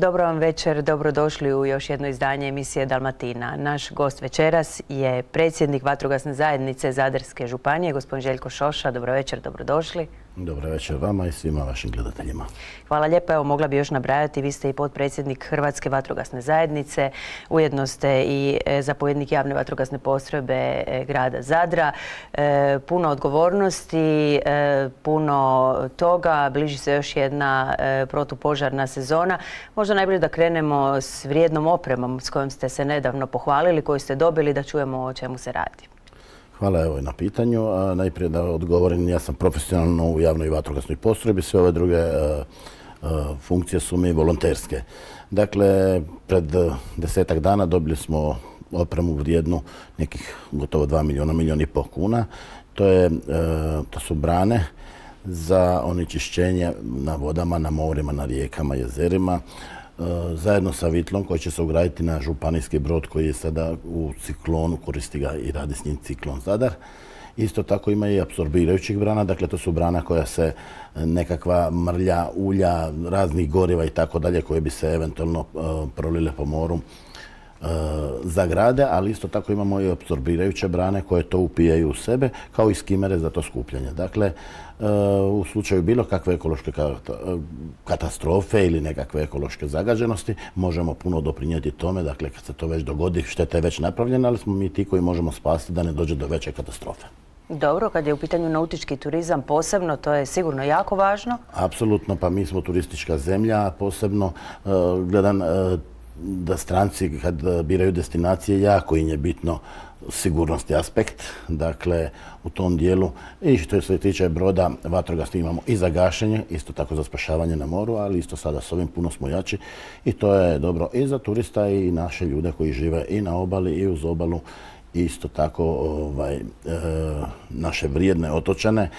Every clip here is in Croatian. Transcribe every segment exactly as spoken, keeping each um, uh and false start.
Dobro vam večer, dobrodošli u još jedno izdanje emisije Dalmatina. Naš gost večeras je predsjednik Vatrogasne zajednice Zadarske županije, gospodin Željko Šoša. Dobro večer, dobrodošli. Dobro večer vama i svima vašim gledateljima. Hvala lijepo. Evo, mogla bi još nabrajati. Vi ste i potpredsjednik Hrvatske vatrogasne zajednice. Ujedno ste i zapovjednik javne vatrogasne postrojbe grada Zadra. E, puno odgovornosti, e, puno toga. Bliži se još jedna e, protupožarna sezona. Možda najbolje da krenemo s vrijednom opremom s kojom ste se nedavno pohvalili, koju ste dobili, da čujemo o čemu se radi. Hvala evo na pitanju. A najprije da odgovorim, ja sam profesionalno u javnoj vatrogasnoj postrojbi, sve ove druge a, a, funkcije su mi volonterske. Dakle, pred desetak dana dobili smo opremu vrijednu nekih gotovo dva milijuna, milijun i pol kuna. To, je, a, to su brane za onečišćenje na vodama, na morima, na rijekama, jezerima, zajedno sa vitlom koji će se ugraditi na županijski brod koji je sada u ciklonu, koristi ga i radi s njim ciklon Zadar. Isto tako ima i apsorbirajućih brana, dakle to su brana koja se nekakva mrlja, ulja, raznih goriva i tako dalje koje bi se eventualno prolile po moru zagrade, ali isto tako imamo i apsorbirajuće brane koje to upijaju u sebe, kao i skimere za to skupljanje. Dakle, u slučaju bilo kakve ekološke katastrofe ili nekakve ekološke zagađenosti možemo puno doprinijeti tome. Dakle, kad se to već dogodi, šteta je već napravljena, ali smo mi ti koji možemo spasiti da ne dođe do veće katastrofe. Dobro, kad je u pitanju nautički turizam posebno, to je sigurno jako važno. Apsolutno, pa mi smo turistička zemlja, posebno gledam da stranci kad biraju destinacije jako im je bitno sigurnosti aspekt, dakle u tom dijelu. I što se tiče broda vatrogasnih imamo i za gašenje, isto tako za spašavanje na moru, ali isto sada s ovim puno smo jači i to je dobro i za turista i naše ljude koji žive i na obali i uz obalu, isto tako ovaj, e, naše vrijedne otočane.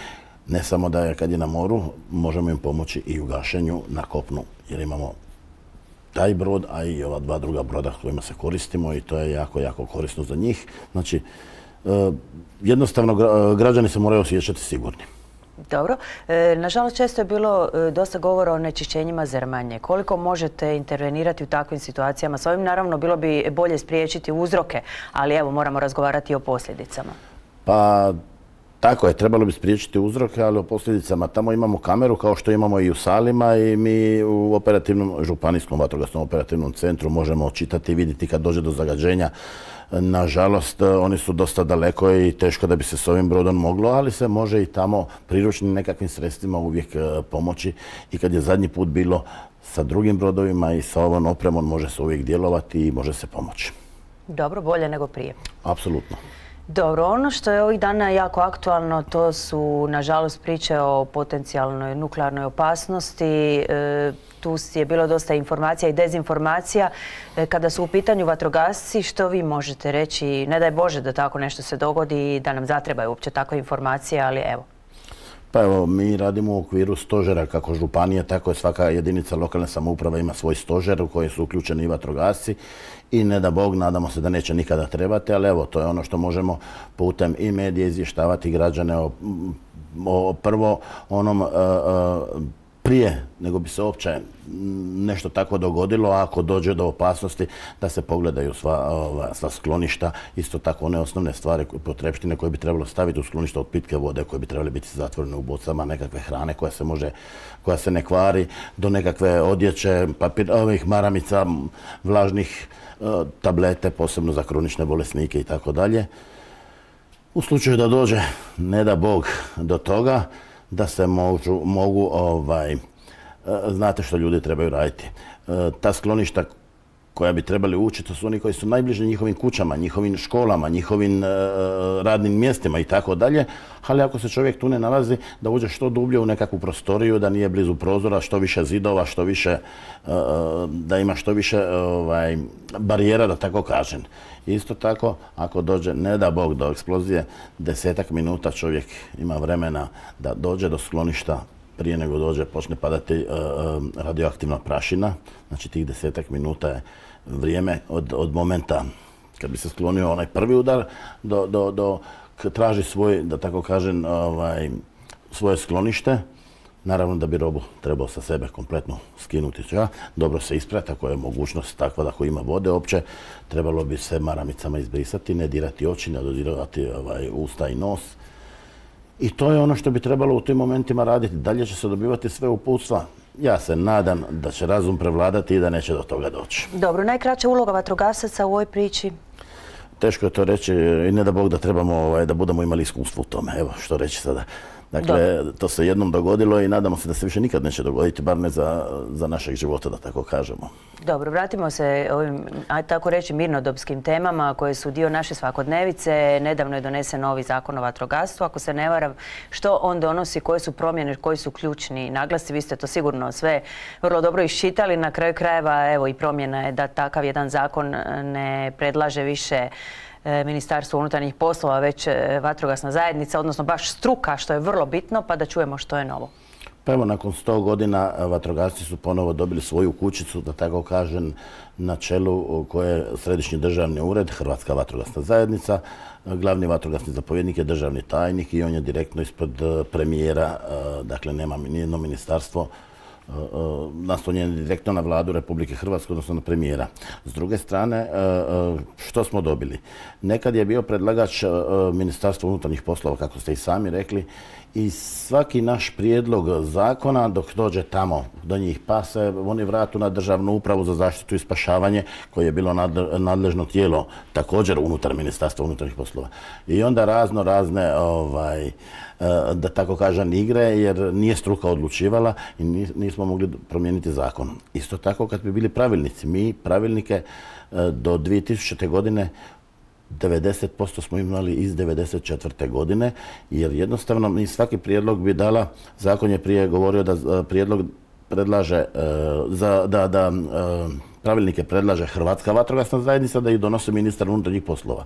Ne samo da je kad je na moru, možemo im pomoći i u gašenju na kopnu, jer imamo taj brod, a i ova dva druga broda kojima se koristimo i to je jako, jako korisno za njih. Znači, jednostavno građani se moraju osjećati sigurni. Dobro. Nažalost, često je bilo dosta govora o nečišćenjima Zrmanje. Koliko možete intervenirati u takvim situacijama? S ovim naravno bilo bi bolje spriječiti uzroke, ali evo moramo razgovarati i o posljedicama. Pa tako je, trebalo bi spriječiti uzroke, ali o posljedicama. Tamo imamo kameru kao što imamo i u Salima i mi u operativnom, županijskom vatrogasnom operativnom centru možemo očitati i vidjeti kad dođe do zagađenja. Nažalost, oni su dosta daleko i teško da bi se s ovim brodom moglo, ali se može i tamo priručnim nekakvim sredstvima uvijek pomoći. I kad je zadnji put bilo sa drugim brodovima i sa ovom opremom može se uvijek djelovati i može se pomoći. Dobro, bolje nego prije. Apsolutno. Dobro, ono što je ovih dana jako aktualno, to su, nažalost, priče o potencijalnoj nuklearnoj opasnosti. E, tu je bilo dosta informacija i dezinformacija. E, kada su u pitanju vatrogasci, što vi možete reći? Ne daj Bože da tako nešto se dogodi i da nam zatrebaju uopće takve informacije, ali evo. Pa evo, mi radimo u okviru stožera, kako županije, tako je svaka jedinica lokalne samouprave ima svoj stožer u koji su uključeni i vatrogasci i ne da Bog, nadamo se da neće nikada trebati, ali evo, to je ono što možemo putem i medije izvještavati građane o, o prvo onom uh, uh, prije nego bi se uopće nešto tako dogodilo, ako dođe do opasnosti da se pogledaju sva, ova, sva skloništa, isto tako one osnovne stvari, potrepštine koje bi trebalo staviti u skloništa od pitke vode, koje bi trebali biti zatvorene u bocama, nekakve hrane koja se može, koja se ne kvari, do nekakve odjeće, papir, ovih maramica, vlažnih uh, tablete, posebno za kronične bolesnike i tako dalje. U slučaju da dođe, ne da Bog, do toga, da se mogu, mogu ovaj, znate što ljudi trebaju raditi. Ta skloništa koja bi trebali ući, to su oni koji su najbliže njihovim kućama, njihovim školama, njihovim radnim mjestima i tako dalje. Ali ako se čovjek tu ne nalazi, da uđe što dublje u nekakvu prostoriju, da nije blizu prozora, što više zidova, što više, da ima što više ovaj, barijera, da tako kažem. Isto tako, ako dođe, ne da Bog, do eksplozije, desetak minuta čovjek ima vremena da dođe do skloništa prije nego dođe, počne padati radioaktivna prašina. Znači, tih desetak minuta je vrijeme od, od momenta kad bi se sklonio onaj prvi udar do, do, do traži svoj, da tako kažem, ovaj, svoje sklonište. Naravno da bi robu trebao sa sebe kompletno skinuti. Dobro se isprati, ako je mogućnost takva da ako ima vode opće, trebalo bi se maramicama izbrisati, ne dirati oči, ne dodirati ovaj, usta i nos. I to je ono što bi trebalo u tim momentima raditi. Dalje će se dobivati sve uputstva. Ja se nadam da će razum prevladati i da neće do toga doći. Dobro, najkraća uloga vatrogasaca u ovoj priči? Teško je to reći i ne da Bog da trebamo ovaj, da budemo imali iskustvo u tome. Evo što reći sada. Dakle, Dobro. To se jednom dogodilo i nadamo se da se više nikad neće dogoditi, bar ne za, za našeg života, da tako kažemo. Dobro, vratimo se ovim, ajde tako reći, mirnodopskim temama koje su dio naše svakodnevice. Nedavno je donesen novi zakon o vatrogastvu. Ako se ne varam, što on donosi, koje su promjene, koji su ključni naglasci? Vi ste to sigurno sve vrlo dobro iščitali. Na kraju krajeva, evo i promjena je da takav jedan zakon ne predlaže više Ministarstvo unutarnjih poslova, već vatrogasna zajednica, odnosno baš struka, što je vrlo bitno, pa da čujemo što je novo. Pa evo, nakon sto godina vatrogasci su ponovo dobili svoju kućicu, da tako kažem, na čelu koje je Središnji državni ured, Hrvatska vatrogasna zajednica. Glavni vatrogasni zapovjednik je državni tajnik i on je direktno ispod premijera, dakle nema nijedno ministarstvo naslonjen direktno na vladu Republike Hrvatske, odnosno na premijera. S druge strane, što smo dobili? Nekad je bio predlagač Ministarstva unutarnjih poslova, kako ste i sami rekli, i svaki naš prijedlog zakona, dok dođe tamo do njih pa se oni vratu na Državnu upravu za zaštitu i spašavanje, koje je bilo nadležno tijelo također unutar Ministarstva unutarnjih poslova. I onda razno razne, ovaj, da tako kažem, igre, jer nije struka odlučivala i nismo mogli promijeniti zakon. Isto tako kad bi bili pravilnici. Mi pravilnike do dvije tisućite. godine devedeset posto smo imali iz devedeset četvrte. godine, jer jednostavno mi svaki prijedlog bi dala, zakon je prije govorio da prijedlog predlaže, za, da, da pravilnike predlaže Hrvatska vatrogasna zajednica, da ih donosi ministar unutarnjih poslova.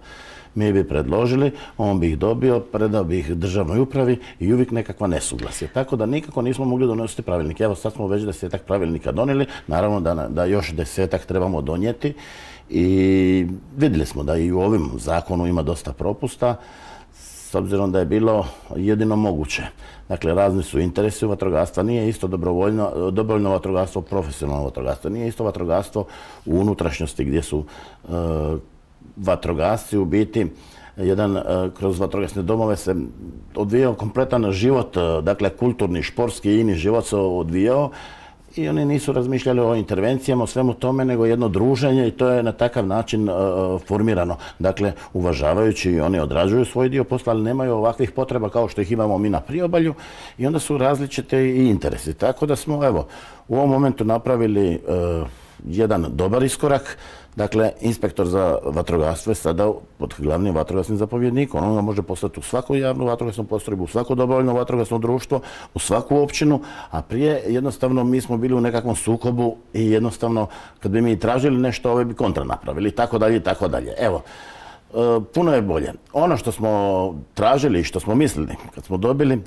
Mi bi predložili, on bi ih dobio, predao bi ih državnoj upravi i uvijek nekakva nesuglasje. Tako da nikako nismo mogli donositi pravilnike. Evo sad smo već desetak pravilnika donijeli, naravno da, da još desetak trebamo donijeti. I vidjeli smo da i u ovim zakonu ima dosta propusta, s obzirom da je bilo jedino moguće. Dakle, razni su interesi u vatrogastva. Nije isto dobrovoljno, dobrovoljno vatrogastvo, profesionalno vatrogastvo. Nije isto vatrogastvo u unutrašnjosti gdje su e, vatrogasci u biti jedan e, kroz vatrogasne domove se odvijao kompletan život, dakle kulturni, športski i ini život se odvijao. I oni nisu razmišljali o intervencijama, o svemu tome, nego jedno druženje i to je na takav način uh, formirano. Dakle, uvažavajući, oni odrađuju svoj dio posla, ali nemaju ovakvih potreba kao što ih imamo mi na priobalju i onda su različite i interesi. Tako da smo, evo, u ovom momentu napravili uh, jedan dobar iskorak. Dakle, inspektor za vatrogastvo je sada pod glavnim vatrogasnim zapovjednikom. On ga može poslati u svaku javnu vatrogasnu postrojbu, u svako dobrovoljno vatrogasno društvo, u svaku općinu, a prije jednostavno mi smo bili u nekakvom sukobu i jednostavno kad bi mi tražili nešto, ove bi kontra napravili i tako dalje i tako dalje. Evo, puno je bolje. Ono što smo tražili i što smo mislili kad smo dobili,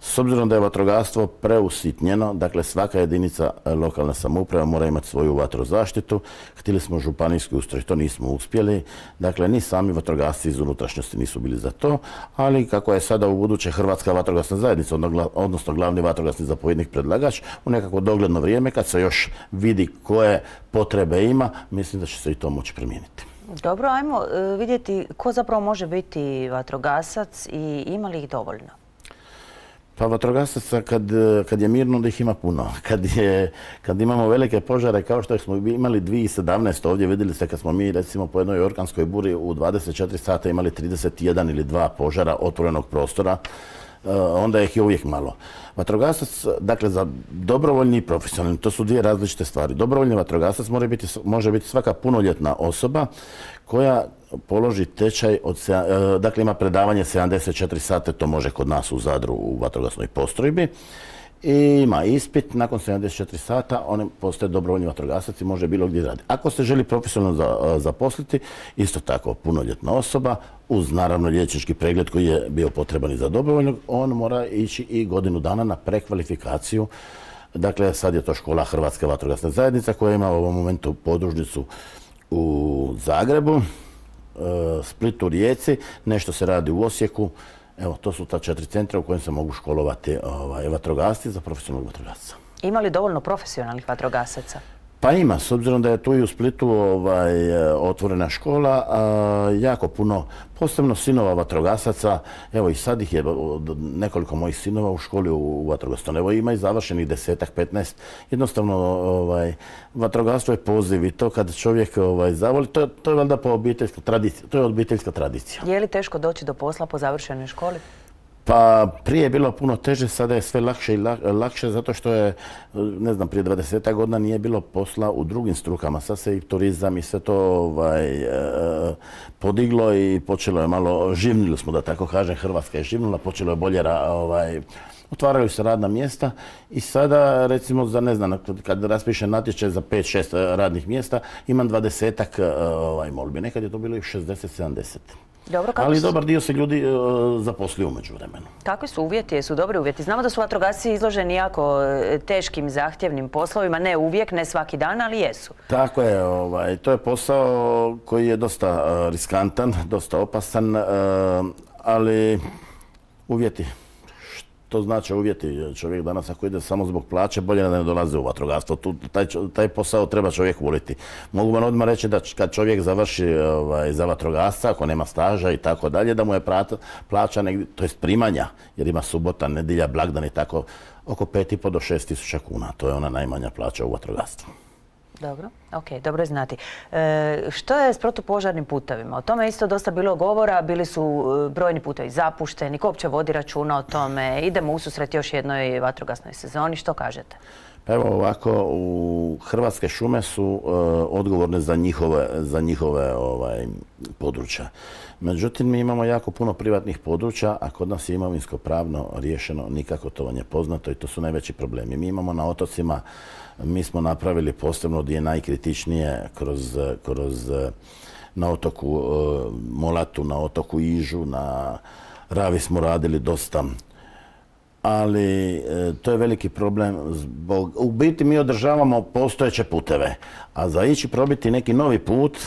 s obzirom da je vatrogastvo preusitnjeno, dakle svaka jedinica lokalne samouprave mora imati svoju vatrozaštitu. Htjeli smo županijski ustroj, to nismo uspjeli. Dakle, ni sami vatrogasci iz unutrašnjosti nisu bili za to, ali kako je sada u buduće Hrvatska vatrogasna zajednica, odnosno glavni vatrogasni zapovjednik predlagač, u nekako dogledno vrijeme, kad se još vidi koje potrebe ima, mislim da će se i to moći promijeniti. Dobro, ajmo vidjeti ko zapravo može biti vatrogasac i ima li ih dovoljno? Pa vatrogasaca kad, kad je mirno da ih ima puno. Kad, je, kad imamo velike požare kao što smo imali dvije tisuće sedamnaeste. ovdje vidjeli ste kad smo mi recimo po jednoj orkanskoj buri u dvadeset četiri sata imali trideset jedan ili dva požara otvorenog prostora, onda ih je uvijek malo. Vatrogasac, dakle za dobrovoljni i profesionalni, to su dvije različite stvari. Dobrovoljni vatrogasac može biti, može biti svaka punoljetna osoba koja položi tečaj, od, dakle ima predavanje sedamdeset četiri sata, to može kod nas u Zadru u vatrogasnoj postrojbi. I ima ispit, nakon sedamdeset četiri sata on postaje dobrovoljni vatrogasac i može bilo gdje raditi. Ako se želi profesionalno zaposliti, isto tako punoljetna osoba, uz naravno liječnički pregled koji je bio potreban i za dobrovoljnog, on mora ići i godinu dana na prekvalifikaciju. Dakle, sad je to škola Hrvatske vatrogasne zajednice koja ima u ovom momentu podružnicu u Zagrebu, Splitu, Rijeci, nešto se radi u Osijeku. Evo, to su ta četiri centra u kojem se mogu školovati ovaj, vatrogasci za profesionalnog vatrogasca. Ima li dovoljno profesionalnih vatrogasaca? Pa ima, s obzirom da je tu i u Splitu ovaj, otvorena škola, a, jako puno, posebno sinova vatrogasaca, evo i sad ih je nekoliko mojih sinova u školi u, u vatrogasstvu. Evo ima i završenih desetak, petnaest. Jednostavno, ovaj, vatrogastvo je poziv i to kad čovjek ovaj, zavoli, to, to je valjda po obiteljska tradicija, to je obiteljska tradicija. Je li teško doći do posla po završenoj školi? Pa prije je bilo puno teže, sada je sve lakše i lakše zato što je, ne znam, prije dvadesetak godina nije bilo posla u drugim strukama. Sad se i turizam i sve to ovaj, podiglo i počelo je malo, živnili smo da tako kažem, Hrvatska je živnula, počelo je bolje, ovaj, otvaraju se radna mjesta i sada recimo za, ne znam, kad raspišem natječaj za pet šest radnih mjesta imam dvadesetak ovaj, molbi. Nekad je to bilo i šezdeset sedamdeset. Dobro, ali su... dobar dio se ljudi uh, zaposlio umeđu vremenu. Kakvi su uvjeti? Jesu dobri uvjeti? Znamo da su vatrogasci izloženi jako teškim, zahtjevnim poslovima. Ne uvijek, ne svaki dan, ali jesu. Tako je. Ovaj, to je posao koji je dosta uh, riskantan, dosta opasan, uh, ali uvjeti. To znači uvjeti. Čovjek danas ako ide samo zbog plaće, bolje da ne dolazi u vatrogastvo. Tu, taj, taj posao treba čovjek voliti. Mogu vam odmah reći da kad čovjek završi ovaj, za vatrogasca, ako nema staža i tako dalje, da mu je prata, plaća, negdje, to jest primanja, jer ima subota, nedjelja, blagdan i tako, oko pet i pol do šest tisuća kuna. To je ona najmanja plaća u vatrogastvu. Dobro, ok, dobro je znati. E, što je s protupožarnim putevima? O tome je isto dosta bilo govora, bili su brojni putevi zapušteni, ko uopće vodi računa o tome, idemo ususret još jednoj vatrogasnoj sezoni, što kažete? Pa evo ovako, u Hrvatske šume su uh, odgovorne za njihove, za njihove ovaj, područja. Međutim, mi imamo jako puno privatnih područja, a kod nas je imovinsko pravno riješeno, nikako to vam je poznato i to su najveći problemi. Mi imamo na otocima, mi smo napravili posebno gdje je najkritičnije kroz, kroz na otoku uh, Molatu, na otoku Ižu, na Ravi smo radili dosta. Ali e, to je veliki problem. Zbog, u biti mi održavamo postojeće puteve, a za ići probiti neki novi put,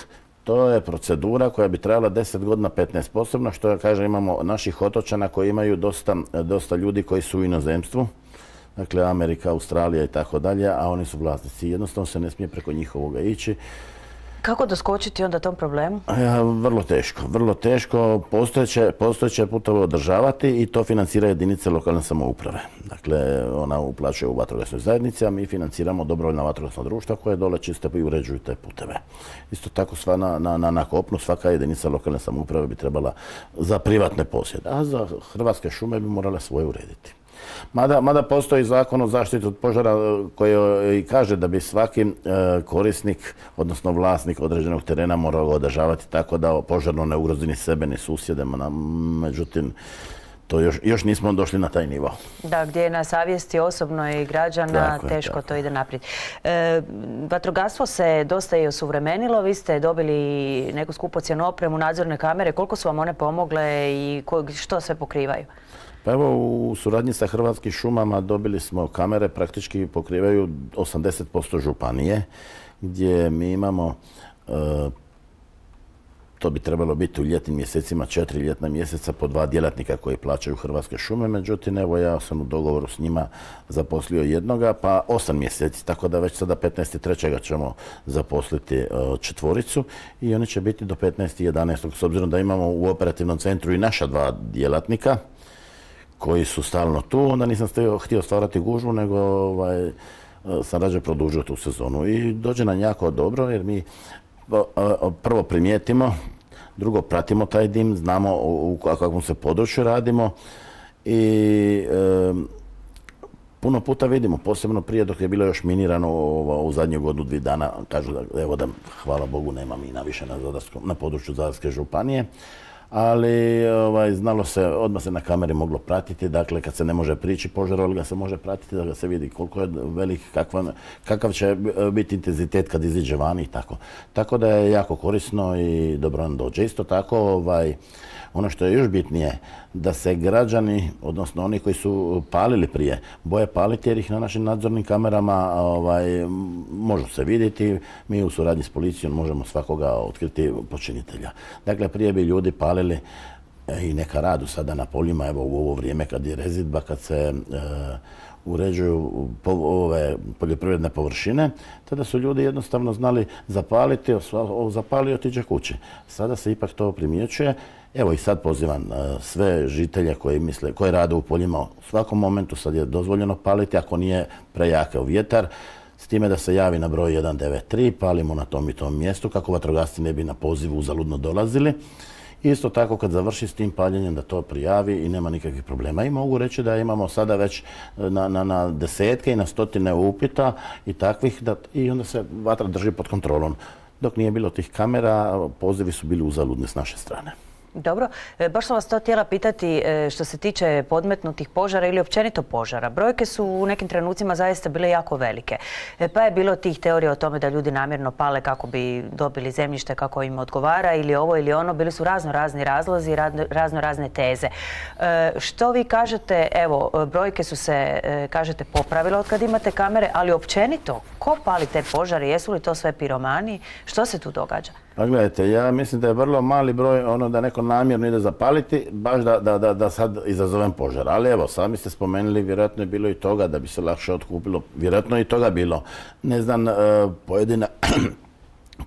to je procedura koja bi trajala deset godina, petnaest posebno, što ja kažem imamo naših otočana koji imaju dosta, dosta ljudi koji su u inozemstvu, dakle Amerika, Australija i tako dalje, a oni su vlasnici. Jednostavno se ne smije preko njihovoga ići. Kako doskočiti onda tom problemu? Ja, vrlo teško, vrlo teško. Postojeće, postojeće putove održavati i to financira jedinice lokalne samouprave. Dakle, ona uplaćuje u vatrogasnoj zajednici, a mi financiramo dobrovoljna vatrogasna društva koje dole čiste i uređuju te puteve. Isto tako sva na, na, na kopnu svaka jedinica lokalne samouprave bi trebala za privatne posjede, a za Hrvatske šume bi morale svoje urediti. Mada, mada postoji zakon o zaštiti od požara koji i kaže da bi svaki e, korisnik, odnosno vlasnik određenog terena morao ga održavati tako da požarno ne ugrozi ni sebe ni susjede, međutim to još, još nismo došli na taj nivo. Da, gdje je na savjesti osobno i građana, tako teško je, to ide naprijed. E, vatrogastvo se dosta i osuvremenilo, vi ste dobili neku skupocjenu opremu, nadzorne kamere, koliko su vam one pomogle i ko, što sve pokrivaju? Pa evo, u suradnji sa Hrvatskim šumama dobili smo kamere, praktički pokrivaju osamdeset posto županije, gdje mi imamo, e, to bi trebalo biti u ljetnim mjesecima, četiri ljetna mjeseca po dva djelatnika koji plaćaju Hrvatske šume, međutim, evo ja sam u dogovoru s njima zaposlio jednoga, pa osam mjeseci, tako da već sada petnaestog trećeg ćemo zaposliti e, četvoricu i oni će biti do petnaestog jedanaestog s obzirom da imamo u operativnom centru i naša dva djelatnika, koji su stalno tu, onda nisam htio stvarati gužvu, nego ovaj, sam rađe produžio tu sezonu. I dođe nam jako dobro, jer mi prvo primijetimo, drugo pratimo taj dim, znamo u kakvom se području radimo i e, puno puta vidimo, posebno prije dok je bilo još minirano u zadnju godinu, dvije dana, kažu da, evo da, hvala Bogu, nema mina više na, na području Zadarske županije. Ali ovaj, znalo se, odmah se na kameri moglo pratiti, dakle kad se ne može prići požaru, ali ga se može pratiti da ga se vidi koliko je velik, kakva, kakav će biti intenzitet kad iziđe vani i tako. Tako da je jako korisno i dobro nam dođe. Isto tako, ovaj, ono što je još bitnije, da se građani, odnosno oni koji su palili prije, boje paliti jer ih na našim nadzornim kamerama ovaj, možu se vidjeti. Mi u suradnji s policijom možemo svakoga otkriti počinitelja. Dakle, prije bi ljudi palili i neka radu sada na poljima, evo u ovo vrijeme kad je rezidba, kad se uređuju ove poljoprivredne površine, tada su ljudi jednostavno znali zapaliti, zapali i otiđe kući. Sada se ipak to primjećuje. Evo i sad pozivam sve žitelje koji misle, koji rade u poljima u svakom momentu, sad je dozvoljeno paliti ako nije prejakav vjetar, s time da se javi na broj jedan devet tri, palimo na tom i tom mjestu kako vatrogasci ne bi na poziv uzaludno dolazili. Isto tako kad završi s tim paljenjem da to prijavi i nema nikakvih problema. I mogu reći da imamo sada već na, na, na desetke i na stotine upita i takvih da, i onda se vatra drži pod kontrolom. Dok nije bilo tih kamera, pozivi su bili uzaludni s naše strane. Dobro, baš sam vas to htjela pitati što se tiče podmetnutih požara ili općenito požara. Brojke su u nekim trenucima zaista bile jako velike. Pa je bilo tih teorija o tome da ljudi namjerno pale kako bi dobili zemljište kako im odgovara ili ovo ili ono. Bili su razno razni razlozi, razno razne teze. Što vi kažete, evo, brojke su se, kažete, popravile od kad imate kamere, ali općenito, ko pali te požare? Jesu li to sve piromani? Što se tu događa? Pa gledajte, ja mislim da je vrlo mali broj ono da neko namjerno ide zapaliti, baš da, da, da, da sad izazovem požar. Ali evo, sami ste spomenuli, vjerojatno je bilo i toga da bi se lakše otkupilo. Vjerojatno je i toga bilo. Ne znam, pojedina,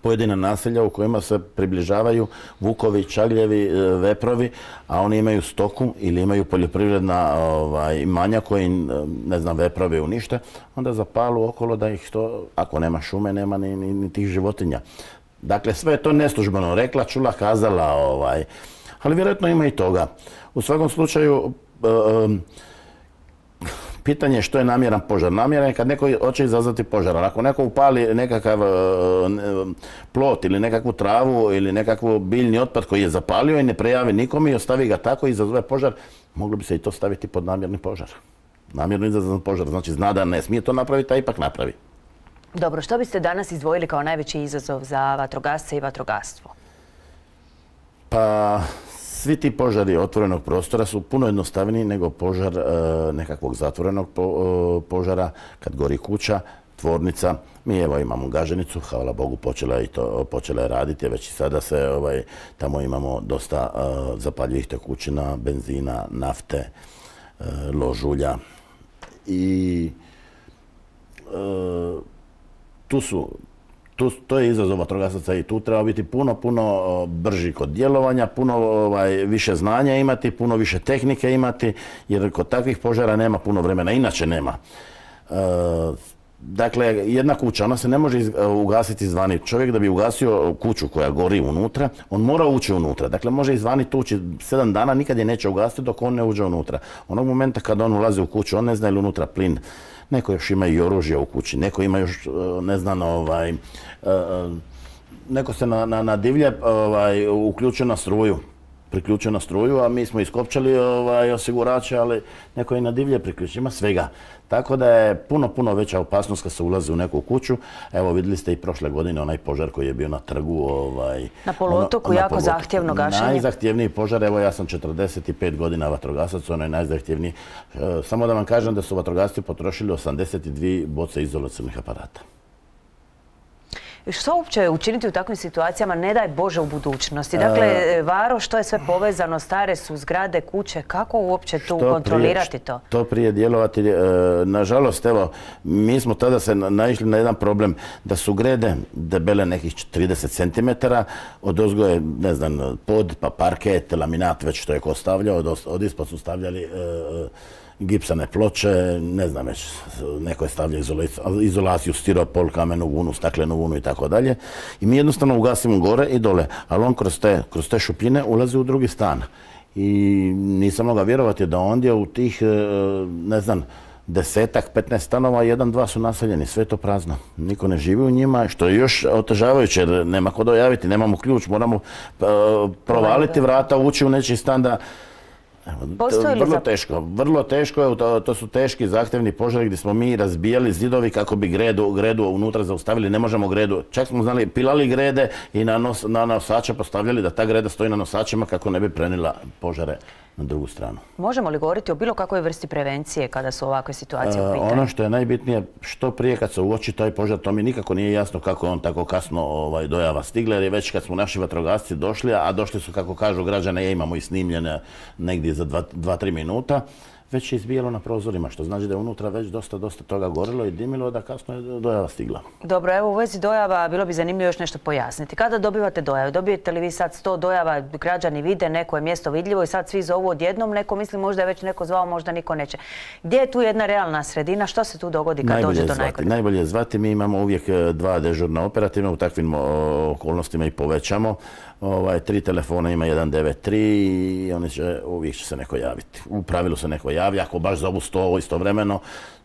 pojedina naselja u kojima se približavaju vukovi, čagljevi, veprovi, a oni imaju stoku ili imaju poljoprivredna ovaj, imanja koji, ne znam, veprovi unište, onda zapalu okolo da ih to, ako nema šume, nema ni, ni, ni tih životinja. Dakle, sve je to neslužbeno rekla, čula, kazala, ovaj, ali vjerojatno ima i toga. U svakom slučaju, um, pitanje je što je namjeran požar. Namjeran je kad neko hoće izazvati požar. Ako neko upali nekakav uh, plot ili nekakvu travu ili nekakvu biljni otpad koji je zapalio i ne prejavi nikome i ostavi ga tako i izazove požar, moglo bi se i to staviti pod namjerni požar. Namjerno izazvan požar, znači zna da ne smije to napraviti, a ipak napravi. Dobro, što biste danas izdvojili kao najveći izazov za vatrogasce i vatrogastvo? Pa, svi ti požari otvorenog prostora su puno jednostavniji nego požar e, nekakvog zatvorenog po, e, požara, kad gori kuća, tvornica. Mi evo imamo Gaženicu, hvala Bogu počela je, to, počela je raditi, već i sada se ovaj, tamo imamo dosta e, zapaljivih tekućina, benzina, nafte, e, ložulja i e, Tu su, tu, to je izazov vatrogasaca i tu treba biti puno, puno brži kod djelovanja, puno ovaj, više znanja imati, puno više tehnike imati, jer kod takvih požara nema puno vremena, inače nema. E, dakle, jedna kuća, ona se ne može iz, ugasiti izvani. Čovjek da bi ugasio kuću koja gori unutra, on mora ući unutra. Dakle, može izvani tući sedam dana, nikad je neće ugasiti dok on ne uđe unutra. Onog momenta kad on ulazi u kuću, on ne zna ili unutra plin. Neko još ima i oružje u kući, neko ima još, ne znam, ovaj, neko se na, na, na divlje ovaj, uključio na struju, priključio na struju, a mi smo iskopčali ovaj, osigurače, ali neko je na divlje priključio, ima svega. Tako da je puno, puno veća opasnost kad se ulazi u neku kuću. Evo, vidjeli ste i prošle godine onaj požar koji je bio na trgu. Ovaj, na poluotoku, ono, jako na zahtjevno gašenje. Najzahtjevniji požar, evo ja sam četrdeset pet godina vatrogasac, ono je najzahtjevniji. E, samo da vam kažem da su vatrogasci potrošili osamdeset dvije boce izolacionih aparata. Što uopće učiniti u takvim situacijama, ne daj Bože, u budućnosti? Dakle, Varo, što je sve povezano, stare su zgrade, kuće, kako uopće tu kontrolirati to? Što prije djelovati, nažalost, evo, mi smo tada se naišli na jedan problem, da su grede debele nekih trideset centimetara, od ozgo je, ne znam, pod, pa parket, laminat, već što je ko stavljao, od ispod su stavljali gipsane ploče, ne znam već, neko je stavljao izolaciju, stiropol, kamenu vunu, staklenu vunu i tako dalje. I mi jednostavno ugasimo gore i dole, ali on kroz te, kroz te šupljine ulazi u drugi stan. I nisam mogao vjerovati da ondje u tih, ne znam, desetak, petnaest stanova, jedan, dva su naseljeni, sve je to prazno. Niko ne živi u njima, što je još otežavajuće, jer nema ko dojaviti, nemamo ključ, moramo provaliti vrata, ući u nečiji stan da... Vrlo teško, vrlo teško je, to, to su teški zahtjevni požari gdje smo mi razbijali zidovi kako bi gredu, gredu unutra zaustavili, ne možemo gredu, čak smo znali, pilali grede i na, nos, na nosače postavljali da ta greda stoji na nosačima kako ne bi prenila požare na drugu stranu. Možemo li govoriti o bilo kakvoj vrsti prevencije kada su ovakve situacije u pitanju? Ono što je najbitnije, što prije kad se uoči taj požar, to mi nikako nije jasno kako je on tako kasno ovaj, dojava stigla, jer je već kad smo naši vatrogasci došli, a došli su, kako kažu građane, je imamo i snimljene negdje za dva tri minuta, već je izbijalo na prozorima, što znači da je unutra već dosta, dosta toga gorilo i dimilo, da kasno je dojava stigla. Dobro, evo u vezi dojava bilo bi zanimljivo još nešto pojasniti. Kada dobivate dojavu? Dobijete li vi sad sto dojava, građani vide, neko je mjesto vidljivo i sad svi zovu odjednom, neko misli možda je već neko zvao, možda niko neće. Gdje je tu jedna realna sredina? Što se tu dogodi kad dođe do najgore? Najbolje je zvati, mi imamo uvijek dva dežurna operativna, u takvim okolnostima i povećamo. Ovaj, tri telefona ima jedan devet tri i oni će, uvijek će se neko javiti. U pravilu se neko javlja, ako baš zovu sto istovremeno,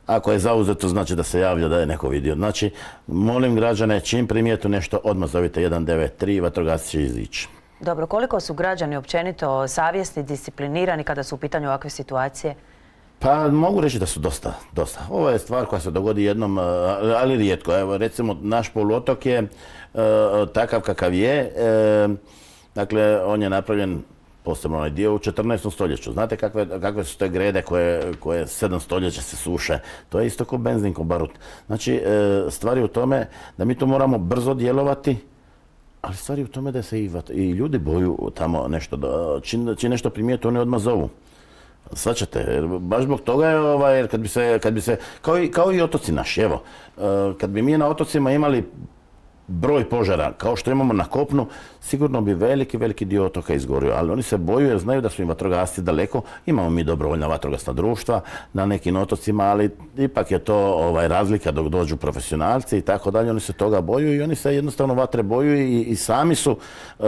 ako je zauzeto znači da se javlja da je neko vidio. Znači, molim građane, čim primijetu nešto, odmah zovite jedan devet tri, vatrogasci će izići. Dobro, koliko su građani općenito savjesni, disciplinirani kada su u pitanju ovakve situacije? Pa mogu reći da su dosta, dosta. Ovo je stvar koja se dogodi jednom, ali rijetko. Evo, recimo, naš poluotok je takav kakav je. Dakle, on je napravljen, posebno onaj dio, u četrnaestom stoljeću. Znate kakve, kakve su te grede koje, koje sedam stoljeća se suše? To je isto kao benzin, kao barut. Znači, stvar je u tome da mi to moramo brzo djelovati, ali stvar je u tome da se i, i ljudi boju tamo nešto, da, čim, čim nešto primijete, oni odmah zovu. Svačate, baš zbog toga je, ovaj, jer kad bi se, kad bi se, kao i, kao i otoci naši, evo, kad bi mi na otocima imali broj požara kao što imamo na kopnu, sigurno bi veliki, veliki dio otoka izgorio, ali oni se boju jer znaju da su im vatrogasci daleko. Imamo mi dobrovoljna vatrogasna društva na nekim otocima, ali ipak je to ovaj, razlika dok dođu profesionalci i tako dalje. Oni se toga boju i oni se jednostavno vatre boju i, i sami su uh,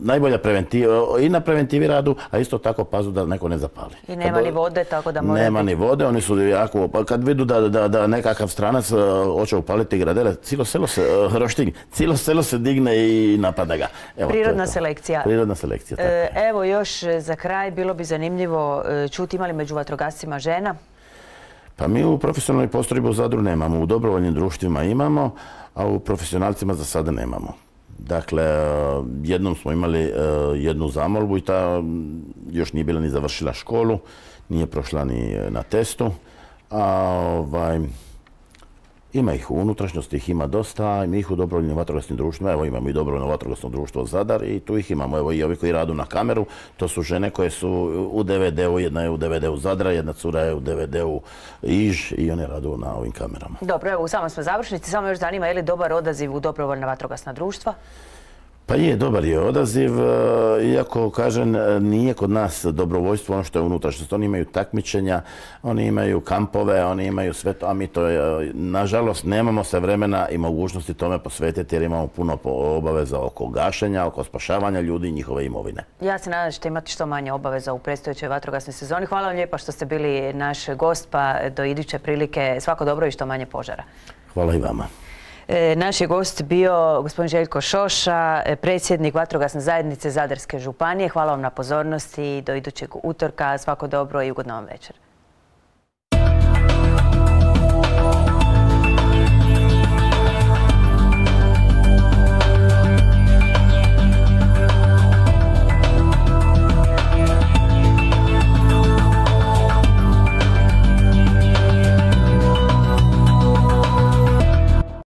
najbolja preventiva, i na preventivi radu, a isto tako pazu da neko ne zapali. I nema kad, ni vode, tako da mora Nema biti... ni vode, oni su jako, kad vidu da, da, da nekakav stranac uh, hoće upaliti gradele, cijelo selo se uh, roštilj, cijelo selo se digne i napada ga. Evo, Prirodna selekcija. Prirodna selekcija, tako. E, evo još za kraj, bilo bi zanimljivo čuti, imali među vatrogascima žena? Pa mi u profesionalnoj postrojbi u Zadru nemamo, u dobrovoljnim društvima imamo, a u profesionalcima za sada nemamo. Dakle, jednom smo imali jednu zamolbu i ta još nije bila ni završila školu, nije prošla ni na testu, a ovaj... Ima ih u unutrašnjosti, ih ima dosta, mi ih u dobrovoljnim vatrogasnim društvima, evo imamo i dobrovoljno vatrogasno društvo Zadar i tu ih imamo, evo i ovi koji radu na kameru, to su žene koje su u D V D-u, jedna je u D V D-u Zadra, jedna cura je u D V D-u Iž i one radu na ovim kamerama. Dobro, evo u samom smo završnici, samo još zanima je li dobar odaziv u dobrovoljna vatrogasna društva? Pa je, dobar je odaziv, iako, kažem, nije kod nas dobrovoljstvo ono što je unutrašnjost. Oni imaju takmičenja, oni imaju kampove, oni imaju sve to, a mi to, nažalost, nemamo se vremena i mogućnosti tome posvetiti jer imamo puno obaveza oko gašenja, oko spašavanja ljudi i njihove imovine. Ja se nadam da ćete imati što manje obaveza u predstojećoj vatrogasnoj sezoni. Hvala vam lijepa što ste bili naš gost, pa do iduće prilike svako dobro i što manje požara. Hvala i vama. Naš je gost bio gospodin Željko Šoša, predsjednik Vatrogasne zajednice Zadarske županije. Hvala vam na pozornosti i do idućeg utorka. Svako dobro i ugodno vam večer.